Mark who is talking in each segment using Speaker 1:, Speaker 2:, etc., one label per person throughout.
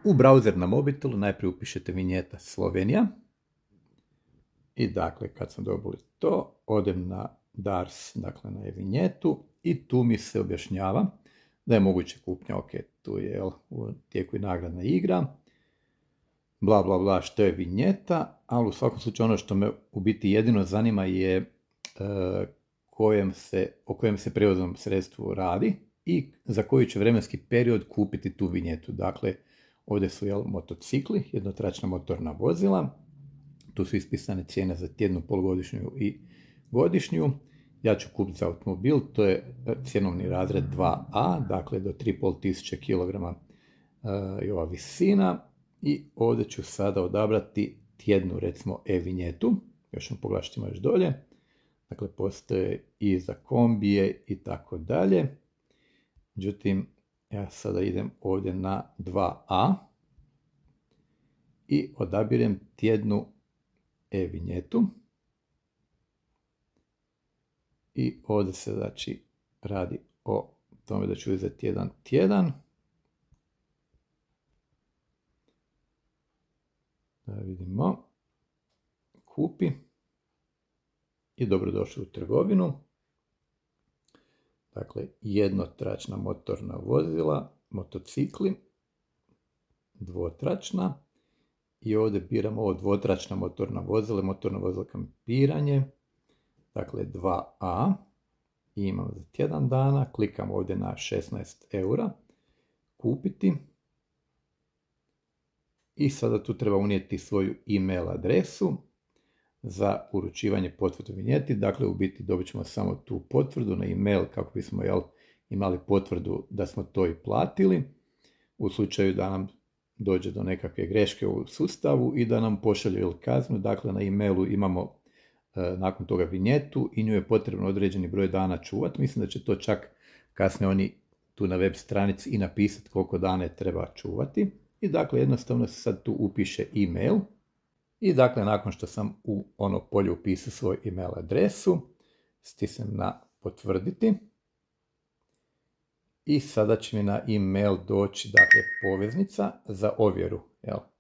Speaker 1: U browser na mobitelu najprije upišete vinjeta Slovenija. I dakle, kad sam dobili to, odem na DARS, dakle na vinjetu, i tu mi se objašnjava da je moguće kupnja, ok, tu je u tijeku i nagradna igra, bla bla bla, što je vinjeta, ali u svakom slučaju ono što me u biti jedino zanima je o kojem se prijevoznom sredstvu radi i za koji će vremenski period kupiti tu vinjetu. Dakle, ovdje su motocikli, jednotračna motorna vozila, tu su ispisane cijene za tjednu, polugodišnju i godišnju. Ja ću kupiti za automobil, to je cjenovni razred 2A, dakle do 3500 kg je ova visina. I ovdje ću sada odabrati tjednu, recimo, e-vinjetu. Još ćemo pogledati što ima još dolje. Dakle, postoje i za kombije i tako dalje. Međutim, ja sada idem ovdje na 2A i odabirem tjednu e-vinjetu. I ovdje se znači radi o tome da ću uzeti jedan tjedan. Da vidimo. Kupi. I dobrodošli u trgovinu. Dakle, jednotračna motorna vozila, motocikli, dvotračna. I ovdje biramo ovo dvotračna motorna vozila, motorno vozilo kampiranje. Dakle, 2A. I imam za tjedan dana. Klikam ovdje na 16 eura. Kupiti. I sada tu treba unijeti svoju e-mail adresu za uručivanje potvrdu vinjeti. Dakle, u biti dobit ćemo samo tu potvrdu na e-mail kako bismo imali potvrdu da smo to i platili. U slučaju da nam dođe do nekakve greške u sustavu i da nam pošalju kaznu. Dakle, na e-mailu imamo nakon toga vinjetu i nju je potrebno određeni broj dana čuvati. Mislim da će to čak kasnije oni tu na web stranici i napisati koliko dana je treba čuvati. I dakle, jednostavno se sad tu upiše e-mail. I dakle, nakon što sam u ono polje upisao svoj e-mail adresu, stisnem na potvrditi. I sada će mi na e-mail doći, dakle, poveznica za ovjeru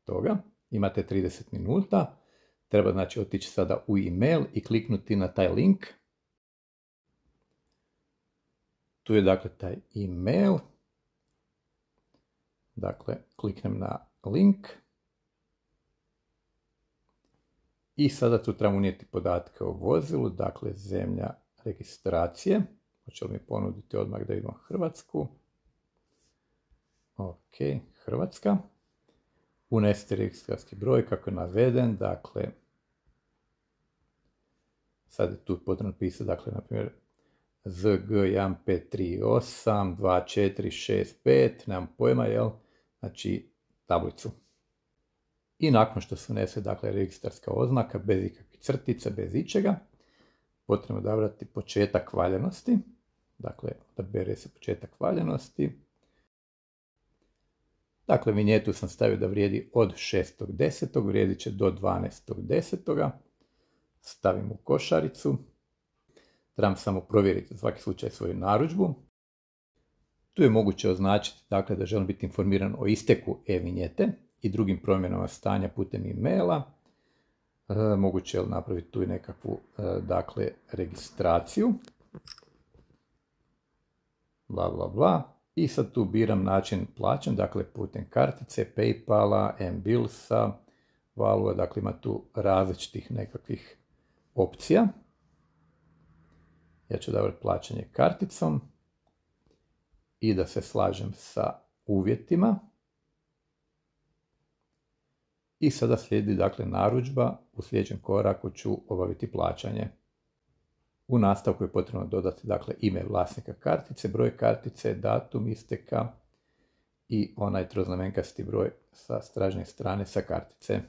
Speaker 1: toga. Imate 30 minuta. Treba znači otići sada u e-mail i kliknuti na taj link. Tu je dakle taj e-mail. Dakle, kliknem na link. I sada tu trebamo unijeti podatke o vozilu, dakle zemlja registracije. Hoće li mi ponuditi odmah da idemo Hrvatsku? Ok, Hrvatska. Unesite registarski broj kako je naveden, dakle, sad je tu potrebno pisati, dakle, na primjer, ZG15382465, nemam pojma, znači, tablicu. I nakon što se unese, dakle, registarska oznaka, bez ikakvih crtica, bez ičega, potrebno odabrati početak valjanosti, dakle, odabere se početak valjanosti. Dakle, vinjetu sam stavio da vrijedi od 6.10. vrijedit će do 12.10. Stavim u košaricu. Trebam samo provjeriti za svaki slučaj svoju narudžbu. Tu je moguće označiti, dakle, da želim biti informiran o isteku e-vinjete i drugim promjenama stanja putem e-maila. Moguće je napraviti tu i nekakvu, dakle, registraciju. Bla, bla, bla. I sad tu biram način plaćanja, dakle putem kartice, PayPala, M-Billsa, Valua, dakle ima tu različitih nekakvih opcija. Ja ću odabrati plaćanje karticom i da se slažem sa uvjetima. I sada slijedi, dakle, narudžba. U sljedećem koraku ću obaviti plaćanje. U nastavku je potrebno dodati, dakle, ime vlasnika kartice, broj kartice, datum isteka i onaj troznamenkasti broj sa stražnje strane sa kartice.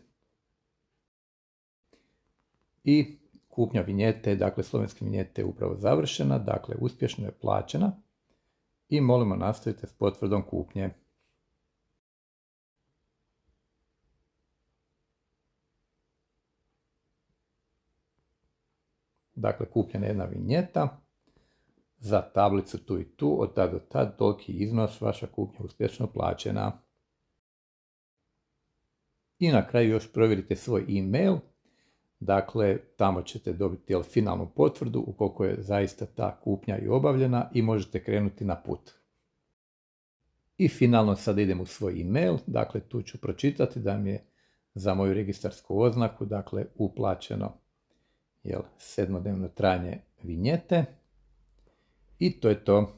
Speaker 1: I kupnja vinjete, dakle, slovenske vinjete je upravo završena, dakle, uspješno je plaćena i molimo nastavite s potvrdom kupnje. Dakle, kupljena je jedna vinjeta za tablicu tu i tu, od tad do tad, toliki iznos, vaša kupnja uspješno plaćena. I na kraju još provjerite svoj email, dakle tamo ćete dobiti finalnu potvrdu ukoliko je zaista ta kupnja i obavljena i možete krenuti na put. I finalno sad idem u svoj email, dakle tu ću pročitati da mi je za moju registarsku oznaku, dakle uplaćeno 7-dnevno trajanje vinjete i to je to.